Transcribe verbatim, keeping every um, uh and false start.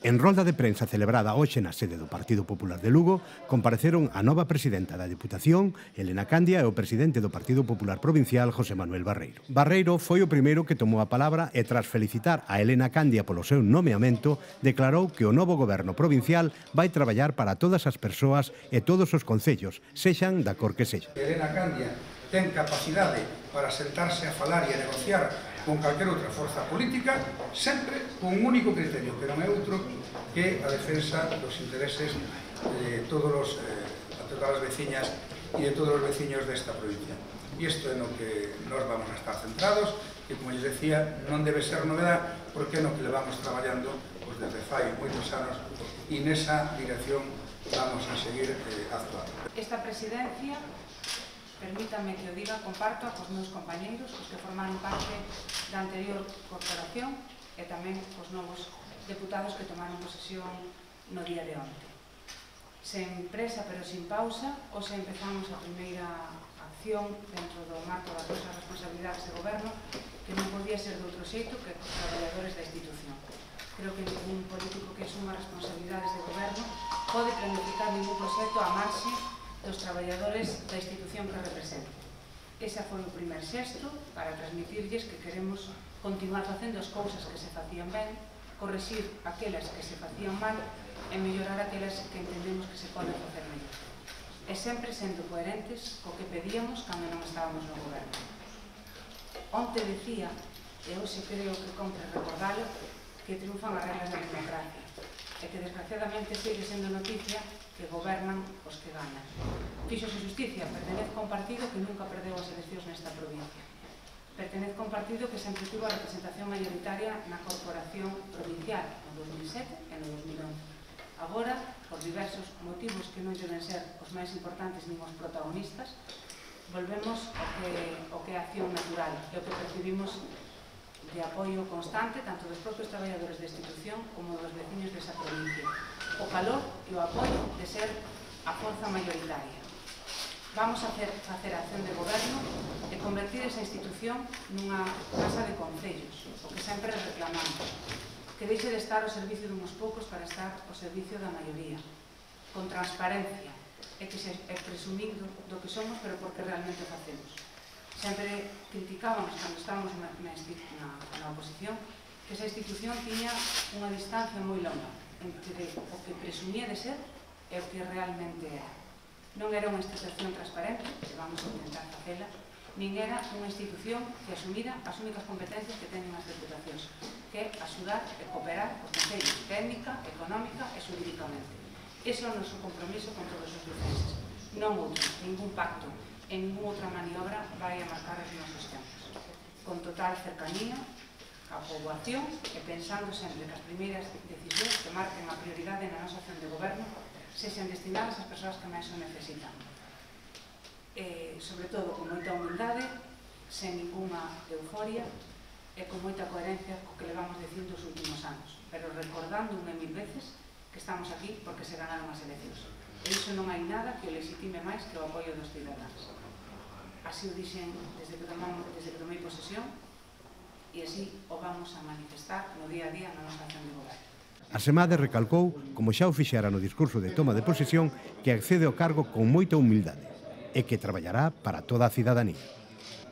En rolda de prensa celebrada hoxe na sede do Partido Popular de Lugo, compareceron a nova presidenta da Deputación, Elena Candia, e o presidente do Partido Popular Provincial, José Manuel Barreiro. Barreiro foi o primeiro que tomou a palabra e, tras felicitar a Elena Candia polo seu nomeamento, declarou que o novo goberno provincial vai traballar para todas as persoas e todos os concellos, sexan da cor que sexan. Elena Candia ten capacidade para sentarse a falar e a negociar con calquer outra forza política, sempre con un único criterio, que non é outro que a defensa dos intereses de todos os, eh, de todas as veciñas e de todos os veciños desta provincia. E isto é no que nós vamos a estar centrados, que, como lles decía, non debe ser novedad, porque é no que levamos traballando pues, desde fai moitos anos, e nesa dirección vamos a seguir eh, actuando. Esta presidencia, permítame que o diga, comparto cos meus compañeiros, os que formaron parte da anterior corporación e tamén os novos deputados que tomaron posesión no día de onte. Sen presa pero sin pausa, hoxe empezamos a primeira acción dentro do marco das nosas responsabilidades de goberno, que non podía ser de outro xeito que os traballadores da institución. Creo que ningún político que asuma responsabilidades de goberno pode planificar ningún proxecto a marxe dos traballadores da institución que representa. Ese foi o primer xesto para transmitirlles que queremos continuar facendo as cousas que se facían ben, correxir aquelas que se facían mal e mellorar aquelas que entendemos que se poden facer mellor. E sempre sendo coherentes co que pedíamos cando non estábamos no goberno. Onte decía, e hoxe creo que compre recordalo, que triunfan as reglas da democracia e que desgraciadamente sigue sendo noticia que gobernan os que ganan. Fíxose justicia, pertenezco a un partido que nunca perdeu as eleccións nesta provincia. Pertenezco a un partido que sempre tuvo a representación mayoritaria na corporación provincial no dos mil sete e no dos mil once. Agora, por diversos motivos que non deben ser os máis importantes nin os protagonistas, volvemos ao que, ao que é a acción natural e o que percibimos de apoio constante tanto dos propios traballadores da institución como dos veciños desa provincia. O calor e o apoio de ser a forza mayoritaria. Vamos a hacer, facer a acción de goberno e convertir esa institución nunha casa de concellos, o que sempre reclamamos, que deixe de estar ao servicio dunhos poucos para estar ao servicio da maioría, con transparencia e que se é presumindo do que somos, pero porque realmente o facemos. Sempre criticábamos, cando estábamos na, na, na, na oposición, que esa institución tiña unha distancia moi longa entre o que presumía de ser e o que realmente era. Non era unha institución transparente, que vamos a intentar facela, nin era unha institución que asumira as únicas competencias que teñen as deputacións, que é axudar e cooperar os concellos técnica, económica e xurídicamente. Ese é o noso compromiso con todos os lucenses. Non outro, ningún pacto, en ninguna outra maniobra vai a marcar os nosos tempos. Con total cercanía á poboación e pensando sempre que as primeiras decisións que marquen a prioridade na nosa acción de goberno sexan destinadas ás persoas que máis o necesitan. E, sobre todo, con moita humildade, sen ninguna euforia e con moita coherencia co que levamos dicindo os últimos anos, pero recordando unha e mil veces que estamos aquí porque se ganaron as eleccións. E iso non hai nada que o legitime máis que o apoio dos cidadáns. Así o dixen desde que, tomamos, desde que tomei posesión e así o vamos a manifestar no día a día na nosa acción de goberno. Asemade recalcou, como xa o fixera no discurso de toma de posesión, que accede ao cargo con moita humildade e que traballará para toda a cidadanía.